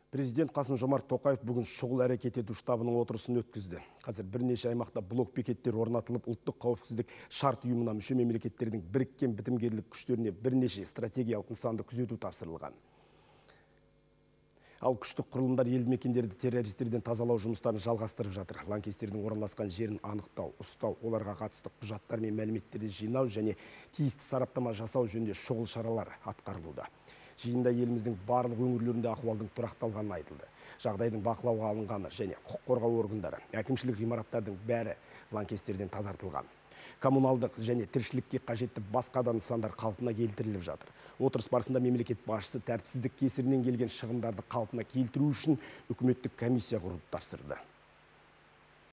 Президент Қасым-Жомарт Тоқаев бүгін шұғыл әрекет ету штабының отырысын өткізді. Қазір бірнеше аймақта блок бекеттер орнатылып, ұлттық қауіпсіздік шарт ұйымына мүше мемлекеттердің біріккен бітімгерлік күштеріне бірнеше стратегиялық нысанды күзету тапсырылған. Ал күштік құрылымдар елді мекендерді террористерден тазалау жұмыстарын жалғастырып жатыр. Лаңкестердің орналасқан жерін анықтау, ұстау, оларға қатысты құжаттар мен мәліметтерді жинау және тиісті сараптама жасау жөнінде шұғыл шаралар атқарылуда. Жиында еліміздің барлық өңірлерінде ахуалдың тұрақталғаны айтылды. Жағдайдың бақылауға алынғаны және құқық қорғау органдары, әкімшілік ғимараттардың бәрі лаңкестерден тазартылған. Коммуналдық және тіршілікке қажетті басқа да нысандар қалпына келтіріліп жатыр. Отырыс барысында мемлекет басшысы тәртіпсіздік кесірінен келген шығындарды қалпына келтіру үшін үкіметтік комиссия құрып тапсырды.